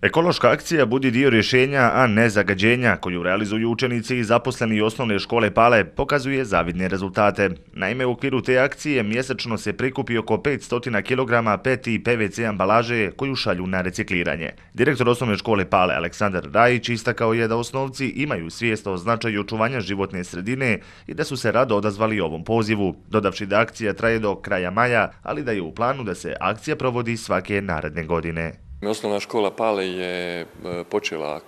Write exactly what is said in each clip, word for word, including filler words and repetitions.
Ekološka akcija budi dio rješenja, a ne zagađenja, koju realizuju učenici i zaposleni osnovne škole Pale, pokazuje zavidne rezultate. Naime, u okviru te akcije mjesečno se prikupi oko petsto kilograma P E T i P V C ambalaže koju šalju na recikliranje. Direktor osnovne škole Pale Aleksandar Rajić istakao je da osnovci imaju svijest o značaju očuvanja životne sredine i da su se rado odazvali ovom pozivu, dodavši da akcija traje do kraja maja, ali da je u planu da se akcija provodi svake naredne godine. Osnovna škola Pale je počela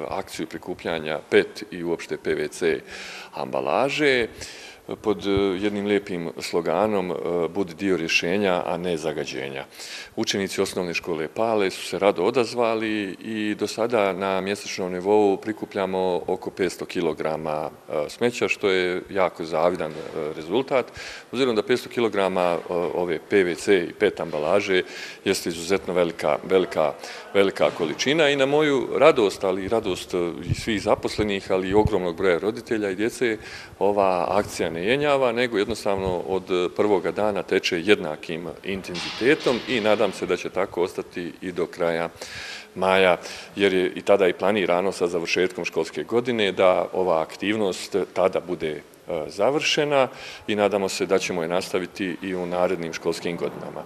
akciju prikupljanja P E T i uopšte P V C ambalaže pod jednim lijepim sloganom "Budi dio rješenja, a ne zagađenja". Učenici osnovne škole Pale su se rado odazvali i do sada na mjesečnom nivou prikupljamo oko petsto kilograma smeća, što je jako zavidan rezultat. Obzirom da petsto kilograma ove P V C i P E T ambalaže jeste izuzetno velika, velika, velika količina i na moju radost, ali i radost i svih zaposlenih, ali i ogromnog broja roditelja i djece, ova akcija ne jenjava, nego jednostavno od prvoga dana teče jednakim intenzitetom i nadam se da će tako ostati i do kraja maja, jer je i tada i planirano sa završetkom školske godine da ova aktivnost tada bude završena i nadamo se da ćemo je nastaviti i u narednim školskim godinama.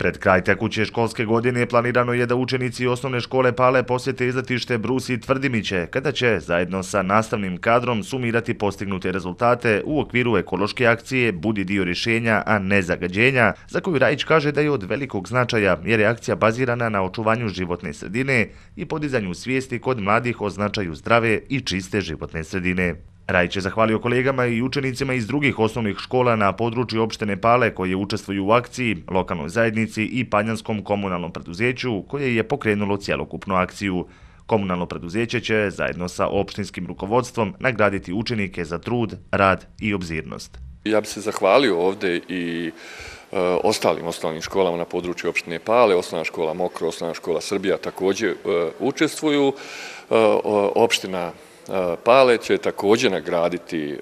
Pred kraj tekuće školske godine planirano je da učenici osnovne škole Pale posjete izletište Brus i Tvrdimiće, kada će zajedno sa nastavnim kadrom sumirati postignute rezultate u okviru ekološke akcije Budi dio rješenja, a ne zagađenja, za koju Rajić kaže da je od velikog značaja jer je akcija bazirana na očuvanju životne sredine i podizanju svijesti kod mladih o značaju zdrave i čiste životne sredine. Rajić je zahvalio kolegama i učenicima iz drugih osnovnih škola na području opštine Pale koje učestvuju u akciji, lokalnoj zajednici i Panjanskom komunalnom preduzeću koje je pokrenulo cjelokupnu akciju. Komunalno preduzeće će zajedno sa opštinskim rukovodstvom nagraditi učenike za trud, rad i obzirnost. Ja bih se zahvalio ovdje i ostalim osnovnim školama na području opštine Pale, osnovna škola Mokro, osnovna škola Srbija također učestvuju. Opština Pale će također nagraditi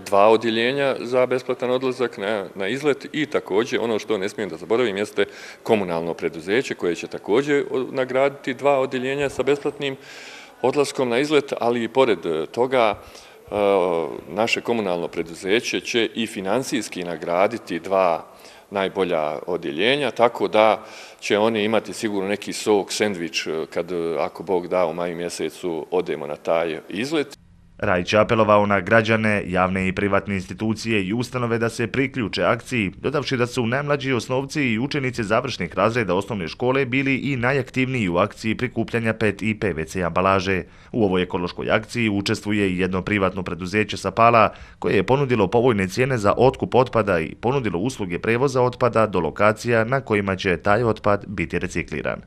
dva odjeljenja za besplatan odlazak na izlet i također, ono što ne smijem da zaboravim, jeste komunalno preduzeće koje će također nagraditi dva odjeljenja sa besplatnim odlaskom na izlet, ali i pored toga naše komunalno preduzeće će i finansijski nagraditi dva najbolja odjeljenja, tako da će oni imati sigurno neki sok, sendvič, kad, ako Bog da, u maju mjesecu odemo na taj izlet. Rajić je apelovao na građane, javne i privatne institucije i ustanove da se priključe akciji, dodavši da su najmlađi osnovci i učenici završnih razreda osnovne škole bili i najaktivniji u akciji prikupljanja P E T i P V C ambalaže. U ovoj ekološkoj akciji učestvuje i jedno privatno preduzeće sa Pala koje je ponudilo povoljne cijene za otkup otpada i ponudilo usluge prevoza otpada do lokacija na kojima će taj otpad biti recikliran.